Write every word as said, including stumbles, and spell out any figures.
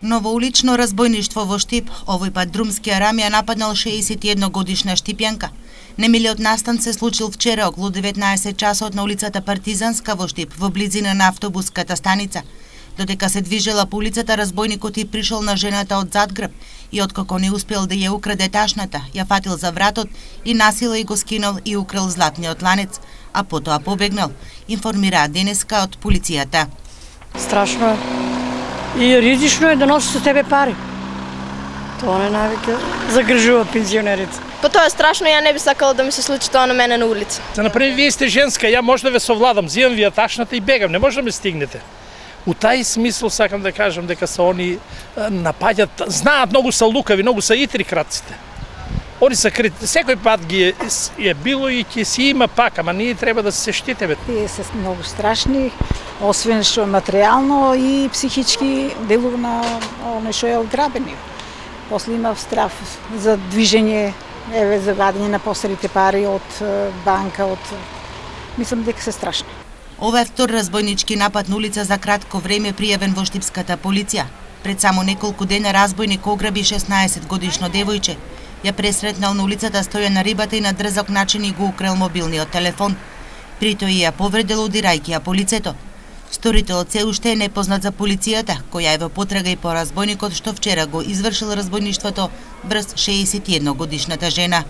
Новоулично разбойништво во Штип, овој пат друмски арам ја нападнал шеесет и една годишна штипјанка. Немилиот настан се случил вчера околу деветнаесет часот на улицата Партизанска во Штип, во близина на автобуската станица. Додека се движела по улицата, разбойникот и пришол на жената од задгрб и откако не успел да ја украде ташната, ја фатил за вратот и насила и го скинал и украл златниот ланец, а потоа побегнал, информираат денеска од полицијата. Страшно е. И ризично е да носи со тебе пари. Тоа не навика загржува пензионерите. Па тоа е страшно, ја не би сакала да ми се случи тоа на мене на улица. За например, вие сте женска, ја може да ве совладам, зимам вие ташната и бегам, не може да ме стигнете. У тај смисол сакам да кажам дека се они напаѓат, знаат, многу се лукави, многу се итри крадците. Они се крит, секој пат ги е, е било и ќе си има пак, ама ние треба да се штитиме. Тие се многу страшни, освен што материјално и психички делува на оној што е ограбени. После има страв за движење, еве за вадење на посредите пари од банка, од мислам дека се страшни. Ова е втор разбойнички напад на улица за кратко време пријавен во штипската полиција. Пред само неколку дена разбойник ограби шеснаесет годишно девојче. Ја пресретнал на улицата стоја на рибата и на дрзок начин и го украл мобилниот телефон. При тој ја повредил удирајќи ја по лицето. Сторителот се уште е непознат за полицијата, која е во потрага и по разбойникот што вчера го извршил разбойништвото врз шеесет и една годишната жена.